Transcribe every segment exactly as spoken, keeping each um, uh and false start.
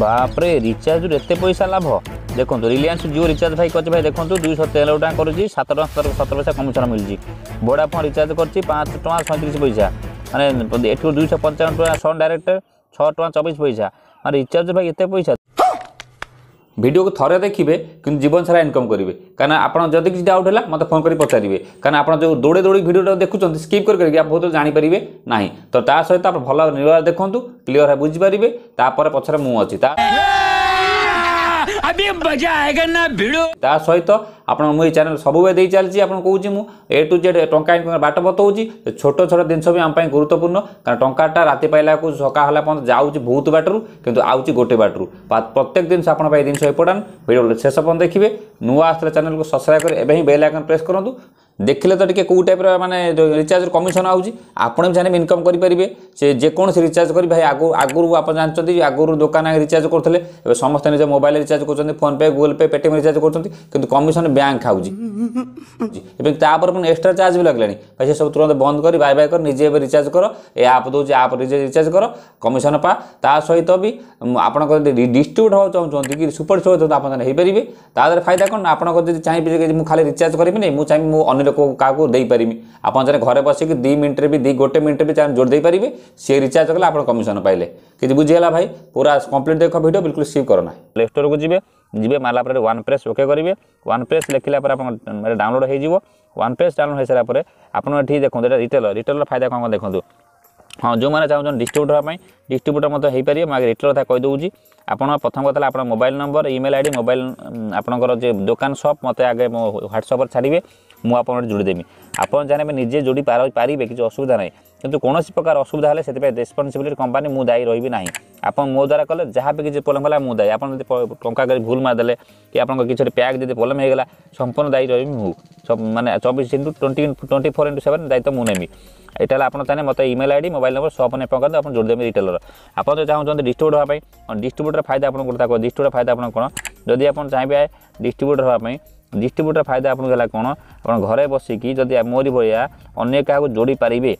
ବାପରେ ରିଚାର୍ଜରୁ ଏତେ ପଇସା ଲାଭ ଦେଖନ୍ତୁ ରିଲାଏନ୍ସ ଜିଓ ରିଚାର୍ଜ ଭାଇ କରିଛି ଭାଇ ଦେଖନ୍ତୁ ଦୁଇଶହ ତେର ଟଙ୍କା କରୁଛି ସାତ ଟଙ୍କା ସତର ସତର ପଇସା କମିଶନ ମିଳିଛି ଭୋଡାଫୋନ୍ ରିଚାର୍ଜ କରିଛି ପାଞ୍ଚ ଟଙ୍କା ସଇଁତିରିଶ ପଇସା ମାନେ ଏଠୁ ଦୁଇଶହ ପଞ୍ଚାବନ ଟଙ୍କା ସନ୍ ଡାଇରେକ୍ଟ ଛଅ ଟଙ୍କା ଚବିଶ ପଇସା ମାନେ ରିଚାର୍ଜ ଭାଇ ଏତେ ପଇସା ଭିଡ଼ିଓକୁ ଥରେ ଦେଖିବେ କିନ୍ତୁ ଜୀବନ ସାରା ଇନକମ୍ କରିବେ କାରଣ ଆପଣ ଯଦି କିଛି ଡାଉଟ୍ ହେଲା ମୋତେ ଫୋନ୍ କରି ପଚାରିବେ କାରଣ ଆପଣ ଯେଉଁ ଦୌଡ଼ି ଦୌଡ଼ି ଭିଡ଼ିଓଟା ଦେଖୁଛନ୍ତି ସ୍କିପ୍ କରି କରିକି ଆପଣ ବହୁତ ଜାଣିପାରିବେ ନାହିଁ ତ ତା ସହିତ ଆପଣ ଭଲ ନିରବରେ ଦେଖନ୍ତୁ କ୍ଲିଅର ବୁଝିପାରିବେ ତାପରେ ପଛରେ ମୁଁ ଅଛି ତା अभी मजा आएगा ना भिड़ू ତା ସହିତ ଆପଣ ମୁଁ ଏଇ ଚ୍ୟାନେଲ୍ ସବୁବେଳେ ଦେଇ ଚାଲିଛି ଆପଣ କହୁଛି ମୁଁ ଏ ଟୁ ଜେଡ୍ ଟଙ୍କା ଇନକମ୍ ବାଟ ବତାଉଛି ଛୋଟ ଛୋଟ ଜିନିଷ ବି ଆମ ପାଇଁ ଗୁରୁତ୍ୱପୂର୍ଣ୍ଣ କାରଣ ଟଙ୍କାଟା ରାତି ପାଇଲାକୁ ସକାଳ ହେଲା ପର୍ଯ୍ୟନ୍ତ ଯାଉଛି ବହୁତ ବାଟରୁ କିନ୍ତୁ ଆଉଛି ଗୋଟେ ବାଟରୁ ପ୍ରତ୍ୟେକ ଜିନିଷ ଆପଣଙ୍କ ପାଇଁ ଜିନିଷ ଇମ୍ପୋର୍ଟାଣ୍ଟ ଭିଡ଼ିଓ ଶେଷ ପର୍ଯ୍ୟନ୍ତ ଦେଖିବେ ନୂଆ ଆସିଲେ ଚ୍ୟାନେଲକୁ ସବସ୍କ୍ରାଇବ୍ କରି ଏବେ ହିଁ ବେଲ୍ ଆଇକନ୍ ପ୍ରେସ୍ କରନ୍ତୁ ଦେଖିଲେ ତ ଟିକେ କେଉଁ ଟାଇପ୍ର ମାନେ ରିଚାର୍ଜ କମିଶନ ଆଉଛି ଆପଣ ବି ଚାହିଁଲେ ଇନକମ୍ କରିପାରିବେ ସେ ଯେକୌଣସି ରିଚାର୍ଜ କରି ଭାଇ ଆଗରୁ ଆଗରୁ ଆପଣ ଜାଣିଛନ୍ତି ଆଗରୁ ଦୋକାନ ରିଚାର୍ଜ କରୁଥିଲେ ଏବେ ସମସ୍ତେ ନିଜ ମୋବାଇଲ ରିଚାର୍ଜ କରୁଛନ୍ତି phone pay Google pay Paytm recharge କରୁଛନ୍ତି କିନ୍ତୁ କମିଶନ ବ୍ୟାଙ୍କ ଖାଉଛି ଏବଂ ତାପରେ ପୁଣି ଏକ୍ସଟ୍ରା ଚାର୍ଜ ବି ଲାଗିଲାଣି ଭାଇ ସେ ସବୁ ତୁରନ୍ତ ବନ୍ଦ କରି ବାଇ ବାଇ କରି ନିଜେ ଏବେ ରିଚାର୍ଜ କର ଏ ଆପ୍ ଦେଉଛି ଆପ୍ ନିଜେ ରିଚାର୍ଜ କର କମିଶନ ପା ତା ସହିତ ବି ଆପଣଙ୍କର ଯଦି ଡିଷ୍ଟ୍ରିବ୍ୟୁଟ୍ ହେବାକୁ ଚାହୁଁଛନ୍ତି କି ସୁପର ଚାହୁଁଛନ୍ତି ଆପଣ ହେଇପାରିବେ ତା ଦେହରେ ଫାଇଦା କ'ଣ ନା ଆପଣଙ୍କର ଯଦି ଚାହିଁବେ ଯେ ମୁଁ ଖାଲି ରିଚାର୍ଜ କରିବିନି ମୁଁ ଚାହିଁବି ମୁଁ ଅନ୍ୟ ଲୋକକୁ କାହାକୁ ଦେଇପାରିବି ଆପଣ ଚାହିଁଲେ ଘରେ ବସିକି ଦୁଇ ମିନିଟ୍ରେ ବି ଦୁଇ ଗୋଟେ ମିନିଟ୍ରେ ବି ଚାହିଁଲେ ଯୋଡ଼ି ଦେଇପାରିବେ ସିଏ ରିଚାର୍ଜ କଲେ ଆପଣ କମିଶନ ପାଇଲେ କିଛି ବୁଝିଗଲା ଭାଇ ପୁରା କମ୍ପ୍ଲିଟ୍ ଦେଖ ଭିଡ଼ିଓ ବିଲକୁଲ ସ୍କିପ୍ କର ନା ପ୍ଲେ ଷ୍ଟୋରକୁ ଯିବେ ଯିବେ ମାରିଲା ପରେ ୱାନ୍ ପ୍ରେସ୍ ଓକେ କରିବେ ୱାନ୍ ପ୍ରେସ୍ ଲେଖିଲା ପରେ ଆପଣ ଡାଉନଲୋଡ଼ ହେଇଯିବ ୱାନ୍ ପ୍ରେସ୍ ଡାଉନଲୋଡ଼ ହେଇସାରିଲା ପରେ ଆପଣ ଏଠି ଦେଖନ୍ତୁ ଏଇଟା ରିଟେଲର ରିଟେଲର ଫାଇଦା କ'ଣ କ'ଣ ଦେଖନ୍ତୁ ହଁ ଯେଉଁମାନେ ଚାହୁଁଛନ୍ତି ଡିଷ୍ଟ୍ରିବ୍ୟୁଟର ହେବା ପାଇଁ ଡିଷ୍ଟ୍ରିବ୍ୟୁଟର ମଧ୍ୟ ହେଇପାରିବେ ମୁଁ ଆଗେ ରିଟେଲର କଥା କହିଦେଉଛି ଆପଣ ପ୍ରଥମ କଥା ହେଲା ଆପଣ mobile number email I D mobile ଆପଣଙ୍କର ଯେ ଦୋକାନ ସପ୍ ମୋତେ ଆଗେ ମୋ ହ୍ୱାଟ୍ସଆପ୍ରେ ଛାଡ଼ିବେ ମୁଁ ଆପଣଙ୍କୁ ଯୋଡ଼ିଦେବି ଆପଣ ଚାହିଁବେ ନିଜେ ଯୋଡ଼ି ପାରିବେ କିଛି ଅସୁବିଧା ନାହିଁ କିନ୍ତୁ କୌଣସି ପ୍ରକାର ଅସୁବିଧା ହେଲେ ସେଥିପାଇଁ ରେସ୍ପନ୍ସିବିଲିଟି କମ୍ପାନୀ ମୁଁ ଦାୟୀ ରହିବି ନାହିଁ ଆପଣ ମୋ ଦ୍ୱାରା କଲେ ଯାହା ବି କିଛି ପ୍ରୋବ୍ଲେମ୍ ହେଲା ମୁଁ ଦାୟୀ ଆପଣ ଯଦି ଟଙ୍କା କରି ଭୁଲ ମାରିଦେଲେ କି ଆପଣଙ୍କ କିଛି ଗୋଟେ ପ୍ୟାକ୍ ଯଦି ପ୍ରୋବ୍ଲେମ୍ ହେଇଗଲା ସମ୍ପୂର୍ଣ୍ଣ ଦାୟୀ ରହିବି ମୁଁ ମାନେ ଚବିଶ into twenty twenty four into seven ଦାୟିତ୍ୱ ମୁଁ ନେବି ଏଇଟା ହେଲା ଆପଣ ଚାହିଁଲେ ମୋତେ email I D mobile number ସପ୍ ନେଇ କରନ୍ତୁ ଆପଣ ଯୋଡ଼ିଦେବେ ରିଟେଲର ଆପଣ ଯଦି ଚାହୁଁଛନ୍ତି ଡିଷ୍ଟ୍ରିବ୍ୟୁଟର ହେବା ପାଇଁ ଡିଷ୍ଟ୍ରିବ୍ୟୁଟର ଫାଇଦା ଆପଣଙ୍କୁ ଗୋଟେ ଡିଷ୍ଟ୍ରିବ୍ୟୁଟର ଫାଇଦା ଆପଣ କ'ଣ ଯଦି ଆପଣ ଚାହିଁବେ ଡିଷ୍ଟ୍ରିବ୍ୟୁଟର ହେବା ପାଇଁ ଡିଷ୍ଟ୍ରିବ୍ୟୁଟର ଫାଇଦା ଆପଣଙ୍କୁ ହେଲା କ'ଣ ଆପଣ ଘରେ ବସିକି ଯଦି ମୋରି ଭଳିଆ ଅନ୍ୟ କାହାକୁ ଯୋଡ଼ି ପାରିବେ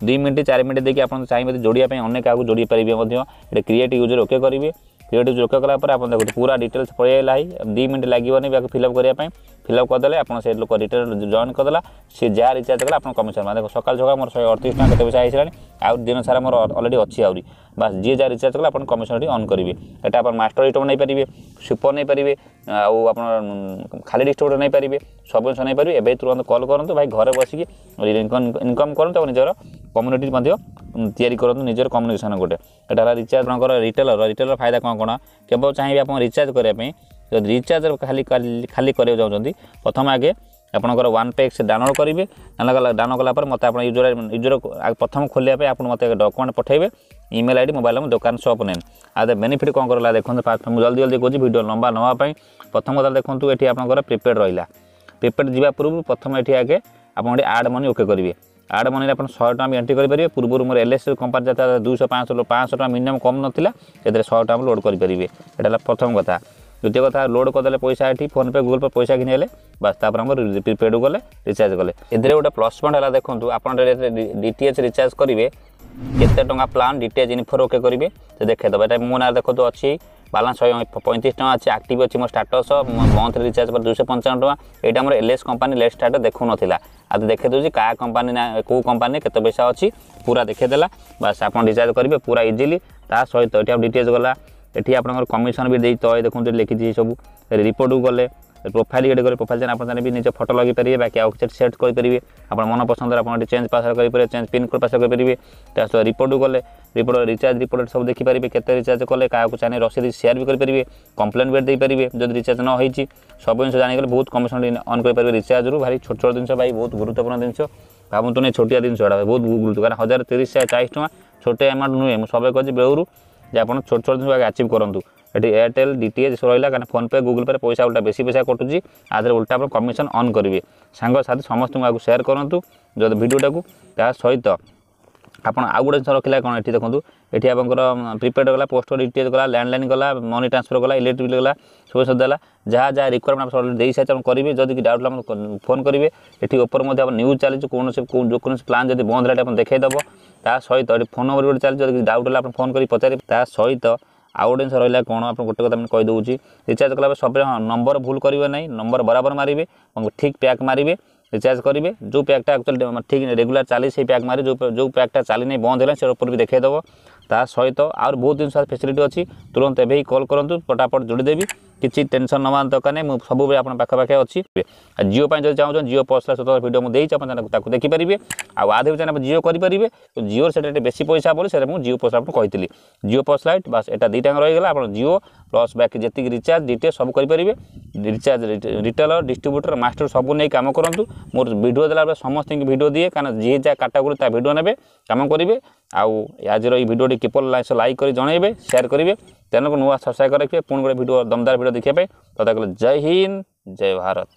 ଦୁଇ ମିନିଟ୍ ଚାରି ମିନିଟ୍ ଦେଇକି ଆପଣ ଚାହିଁବେ ଯୋଡ଼ିବା ପାଇଁ ଅନ୍ୟ କାହାକୁ ଯୋଡ଼ି ପାରିବେ ମଧ୍ୟ ଏଠି କ୍ରିଏଟ୍ ୟୁଜର୍ ଓକେ କରିବେ କ୍ରିଏଟ୍ ୟୁଜର୍ ଓକେ କଲା ପରେ ଆପଣ ଦେଖନ୍ତୁ ପୁରା ଡିଟେଲ୍ସ ପଳେଇ ଆସିଲା ଦୁଇ ମିନିଟ୍ ଲାଗିବନି ତାକୁ ଫିଲ୍ଅପ୍ କରିବା ପାଇଁ ଫିଲ୍ଅପ୍ କରିଦେଲେ ଆପଣ ସେ ଲୋକ ଡିଟେଲ୍ ଜଏନ୍ କରିଦେଲା ସିଏ ଯାହା ରିଚାର୍ଜ କଲା ଆପଣ କମିଶନ ମାନେ ଦେଖ ସକାଳୁ ସକାଳୁ ମୋର ଶହେ ଅଠତିରିଶ ଟଙ୍କା କେତେ ପଇସା ହେଇସାରିଲାଣି ଆଉ ଦିନ ସାରା ମୋର ଅଲରେଡ଼ି ଅଛି ଆହୁରି ବାସ୍ ଯିଏ ଯାହା ରିଚାର୍ଜ କଲା ଆପଣ କମିଶନ ଏଠି ଅନ୍ କରିବେ ଏଟା ଆପଣ ମାଷ୍ଟର ଡିଷ୍ଟ୍ରିବ୍ୟୁଟର ନେଇପାରିବେ ସୁପର ନେଇପାରିବେ ଆଉ ଆପଣ ଖାଲି ଡିଷ୍ଟ୍ରିବ୍ୟୁଟର ନେଇପାରିବେ ସବୁ ଜିନିଷ ନେଇପାରିବେ ଏବେ ତୁରନ୍ତ କଲ୍ କରନ୍ତୁ ଭାଇ ଘରେ ବସିକି ଇନକମ୍ କରନ୍ତୁ ଆଉ ନିଜର କମ୍ୟୁନିଟି ମଧ୍ୟ ତିଆରି କରନ୍ତୁ ନିଜର କମ୍ୟୁନିକେସନ୍ ଗୋଟେ ଏଟା ହେଲା ରିଚାର୍ଜ ଆପଣଙ୍କର ରିଟେଲର ରିଟେଲର ଫାଇଦା କ'ଣ କ'ଣ କେବଳ ଚାହିଁବେ ଆପଣ ରିଚାର୍ଜ କରିବା ପାଇଁ ଯଦି ରିଚାର୍ଜ ଖାଲି ଖାଲି କରିବାକୁ ଚାହୁଁଛନ୍ତି ପ୍ରଥମେ ଆଗେ ଆପଣଙ୍କର ୱାନ୍ ପେ ଏକ୍ସ ଡାଉନଲୋଡ଼ କରିବେ ଡାଉନଲୋଡ଼ କଲା ଡାଉନଲୋଡ଼ କଲା ପରେ ମୋତେ ଆପଣ ୟୁଜର ୟୁଜର ପ୍ରଥମ ଖୋଲିବା ପାଇଁ ଆପଣ ମୋତେ ଡକୁମେଣ୍ଟ ପଠାଇବେ email I D mobile number ଦୋକାନ ସପ୍ ନେମ୍ ଆଉ ବେନିଫିଟ୍ କ'ଣ କରିଲା ଦେଖନ୍ତୁ ଫାଷ୍ଟ ମୁଁ ଜଲ୍ଦି ଜଲ୍ଦି କହୁଛି ଭିଡ଼ିଓ ଲମ୍ବା ନେବା ପାଇଁ ପ୍ରଥମ କଥା ଦେଖନ୍ତୁ ଏଠି ଆପଣଙ୍କର ପ୍ରିପେଡ଼ ରହିଲା ପ୍ରିପେଡ଼ ଯିବା ପୂର୍ବରୁ ପ୍ରଥମେ ଏଠି ଆଗେ ଆପଣ ଏଠି ଆଡ଼୍ ମନି ଓକେ କରିବେ ଆଡ଼୍ ମନିରେ ଆପଣ ଶହେ ଟଙ୍କା ବି ଏଣ୍ଟ୍ରି କରିପାରିବେ ପୂର୍ବରୁ ମୋର ଏଲ୍ ଏସ୍ କମ୍ପାନୀ ଯାତା ଦୁଇଶହ ପାଞ୍ଚଶହ ପାଞ୍ଚଶହ ଟଙ୍କା ମିନିମମ୍ କମ୍ ନଥିଲା ସେଥିରେ ଶହେ ଟଙ୍କା ଲୋଡ଼୍ କରିପାରିବେ ଏଇଟା ହେଲା ପ୍ରଥମ କଥା ଦ୍ୱିତୀୟ କଥା ଲୋଡ଼୍ କରିଦେଲେ ପଇସା ଏଠି ଫୋନ୍ପେ ଗୁଗଲ୍ ପେ ପଇସା ଘିନିହେଲେ ବାସ୍ ତାପରେ ଆମର ପ୍ରିପେଡ଼୍ ଗଲେ ରିଚାର୍ଜ କଲେ ଏଥିରେ ଗୋଟେ ପ୍ଲସ୍ ପଏଣ୍ଟ ହେଲା ଦେଖନ୍ତୁ ଆପଣ ଡି ଟି ଏଚ୍ ରିଚାର୍ଜ କରିବେ କେତେ ଟଙ୍କା plan D T H ଇନଫୋର୍ okay କରିବେ ସେ ଦେଖେଇଦେବ ଏଇଟା ମୋ ନାଁରେ ଦେଖନ୍ତୁ ଅଛି ବାଲାନ୍ସ ଶହେ ପଇଁତିରିଶ ଟଙ୍କା ଅଛି ଆକ୍ଟିଭ୍ ଅଛି ମୋ ଷ୍ଟାଟସ୍ ମନ୍ଥଲି ରିଚାର୍ଜ ପରେ ଦୁଇଶହ ପଞ୍ଚାବନ ଟଙ୍କା ଏଇଟା ଆମର L S company late start ଦେଖାଉନଥିଲା ଆଉ ଦେଖେଇ ଦେଉଛି କାହା କମ୍ପାନୀ ନା କେଉଁ କମ୍ପାନୀ କେତେ ପଇସା ଅଛି ପୁରା ଦେଖେଇଦେଲା ବାସ୍ ଆପଣ ରିଚାର୍ଜ କରିବେ ପୁରା ଇଜିଲି ତା ସହିତ ଏଠି ଆଉ ଡି ଟି ଏଚ୍ ଗଲା ଏଠି ଆପଣଙ୍କର କମିଶନ ବି ଦେଇ ତଳେ ଦେଖନ୍ତୁ ଲେଖିଛି ସବୁ ରିପୋର୍ଟକୁ ଗଲେ ପ୍ରୋଫାଇଲ୍ ଏଠି ଗଲେ ପ୍ରୋଫାଇଲ୍ ଆପଣ ଚାହିଁଲେ ବି ନିଜ ଫଟୋ ଲଗେଇ ପାରିବେ ବାକି ଆଉ କିଛି ସେଟ୍ କରିପାରିବେ ଆପଣ ମନ ପସନ୍ଦରେ ଆପଣ ଏଠି ଚେଞ୍ଜ ପାସୱାର୍ଡ଼ କରିପାରିବେ ଚେଞ୍ଜ ପିନ୍ କୋଡ଼ ପାସୱାର୍ଡ଼ କରିପାରିବେ ତା ସହିତ ରିପୋର୍ଟକୁ ଗଲେ ରିପୋର୍ଟ ରିଚାର୍ଜ ରିପୋର୍ଟ ସବୁ ଦେଖିପାରିବେ କେତେ ରିଚାର୍ଜ କଲେ କାହାକୁ ଚାହିଁଲେ ରସିଦ ସେୟାର ବି କରିପାରିବେ କମ୍ପ୍ଲେନ୍ ବି ଦେଇପାରିବେ ଯଦି ରିଚାର୍ଜ ନ ହେଇଛି ସବୁ ଜିନିଷ ଜାଣିଗଲେ ବହୁତ କମିଶନ ଅନ୍ କରିପାରିବେ ରିଚାର୍ଜରୁ ଭାରି ଛୋଟ ଛୋଟ ଜିନିଷ ଭାଇ ବହୁତ ଗୁରୁତ୍ୱପୂର୍ଣ୍ଣ ଜିନିଷ ଭାବନ୍ତୁ ନାହିଁ ଛୋଟିଆ ଜିନିଷ ଏଇଟା ବହୁତ ଗୁରୁତ୍ୱ କାରଣ ହଜାର ତିରିଶ ଚାଳିଶ ଟଙ୍କା ଛୋଟ ଆମାଉଣ୍ଟ ନୁହେଁ ମୁଁ ସବେ କହିଛି ବେଳରୁ ଯେ ଆପଣ ଛୋଟ ଛୋଟ ଜିନିଷ ଆଗେ ଆଚିଭ୍ କରନ୍ତୁ ଏଠି ଏୟାରଟେଲ୍ ଡି ଟି ଏଚ୍ ରହିଲା କାରଣ ଫୋନ୍ପେ ଗୁଗଲ୍ ପେରେ ପଇସା ଉଲ୍ଟା ବେଶୀ ପଇସା କଟୁଛି ଆ ଦେହରେ ଉଲ୍ଟା ଆପଣ କମିଶନ ଅନ୍ କରିବେ ସାଙ୍ଗସାଥି ସମସ୍ତଙ୍କୁ ଆଗକୁ ସେୟାର କରନ୍ତୁ ଯଦି ଭିଡ଼ିଓଟାକୁ ତା ସହିତ ଆପଣ ଆଉ ଗୋଟେ ଜିନିଷ ରଖିଲା କ'ଣ ଏଠି ଦେଖନ୍ତୁ ଏଠି ଆପଣଙ୍କର ପ୍ରିପେଡ଼ ଗଲା ପୋଷ୍ଟ ଡି ଟି ଏଚ୍ ଗଲା ଲ୍ୟାଣ୍ଡଲାଇନ୍ ଗଲା ମନି ଟ୍ରାନ୍ସଫର୍ ଗଲା ଇଲେକ୍ଟ୍ରିକ୍ ବିଲ୍ ଗଲା ସବୁ ସବୁ ଦେଲା ଯାହା ଯାହା ରିକ୍ୱାରମେଣ୍ଟ ଆପଣ ଦେଇ ସାରିଛି ଆପଣ କରିବେ ଯଦି କି ଡାଉଟ୍ ଆପଣ ଫୋନ୍ କରିବେ ଏଠି ଉପରେ ମଧ୍ୟ ଆପଣ ନ୍ୟୁଜ୍ ଚାଲିଛି କୌଣସି ଯେକୌଣସି ପ୍ଲାନ୍ ଯଦି ବନ୍ଦ ହେଲା ଆପଣ ଦେଖାଇଦେବ ତା ସହିତ ଏଠି ଫୋନ୍ ନମ୍ବର ଗୋଟେ ଚାଲିଛି ଯଦି କିଛି ଡାଉଟ୍ ହେଲା ଆପଣ ଫୋନ୍ କରି ପଚାରିବେ ତା ସହିତ ଆଉ ଗୋଟେ ଜିନିଷ ରହିଲା କ'ଣ, ଆପଣ ଗୋଟେ କଥା ମୁଁ କହିଦେଉଛି, ରିଚାର୍ଜ କଲାବେଳେ ସବୁବେଳେ ହଁ ନମ୍ବର ଭୁଲ କରିବେ ନାହିଁ, ନମ୍ବର ବରାବର ମାରିବେ ଏବଂ ଠିକ୍ ପ୍ୟାକ୍ ମାରିବେ, ରିଚାର୍ଜ କରିବେ। ଯେଉଁ ପ୍ୟାକ୍ଟା ଆକ୍ଚୁଆଲି ଠିକ୍ ରେଗୁଲାର ଚାଲି ସେଇ ପ୍ୟାକ୍ ମାରି, ଯେଉଁ ଯେଉଁ ପ୍ୟାକ୍ଟା ଚାଲିନି, ବନ୍ଦ ହେଲା, ସେ ଉପରେ ବି ଦେଖାଇଦେବ। ତା ସହିତ ଆହୁରି ବହୁତ ଜିନିଷ ଫେସିଲିଟି ଅଛି। ତୁରନ୍ତ ଏବେ ହିଁ କଲ୍ କରନ୍ତୁ, ଫଟାଫଟ ଯୋଡ଼ିଦେବି। କିଛି ଟେନସନ୍ ନେବା ଦରକାର ନାହିଁ, ମୁଁ ସବୁବେଳେ ଆପଣଙ୍କ ପାଖାପାଖି ଅଛି। ଆଉ ଜିଓ ପାଇଁ ଯଦି ଚାହୁଁଛନ୍ତି, ଜିଓ ପର୍ସନାଲ ସ୍ୱତନ୍ତ୍ର ଭିଡ଼ିଓ ମୁଁ ଦେଇଛି, ଆପଣ ତାକୁ ଦେଖିପାରିବେ। ଆଉ ଆଧେ ଚାହିଁଲେ ଆପଣ ଜିଓ କରିପାରିବେ। ଜିଓର ସେଟା ଟିକେ ବେଶୀ ପଇସା ବୋଲି ସେଟା ମୁଁ ଜିଓ ପର୍ସ ଆପଣଙ୍କୁ କହିଥିଲି। ଜିଓ ପର୍ସ ଲାଇଟ୍ ବାସ୍ ଏଟା ଦୁଇଟା ରହିଗଲା। ଆପଣ ଜିଓ ପ୍ଲସ୍ ବାକି ଯେତିକି ରିଚାର୍ଜ ଡିଟେଲ୍ ସବୁ କରିପାରିବେ। ରିଚାର୍ଜ ରିଟେଲର, ଡିଷ୍ଟ୍ରିବ୍ୟୁଟର, ମାଷ୍ଟର ସବୁ ନେଇ କାମ କରନ୍ତୁ। ମୋର ଭିଡ଼ିଓ ଦେଲାବେଳେ ସମସ୍ତଙ୍କୁ ଭିଡ଼ିଓ ଦିଏ, କାରଣ ଯିଏ ଯାହା କାଟାଗୋରୀ ତା ଭିଡ଼ିଓ ନେବେ, କାମ କରିବେ। ଆଉ ଆଜିର ଏଇ ଭିଡ଼ିଓଟି କିପରି ଲାଇକ୍ କରି ଜଣାଇବେ, ସେୟାର କରିବେ, ଚ୍ୟାନେଲକୁ ନୂଆ ସବସ୍କ୍ରାଇବ୍ କରି ରଖିବେ ପୁଣି ଗୋଟେ ଭିଡ଼ିଓ, ଦମଦାର ଭିଡ଼ିଓ ଦେଖିବା ପାଇଁ। ତଥା ଜୟ ହିନ୍ଦ, ଜୟ ଭାରତ।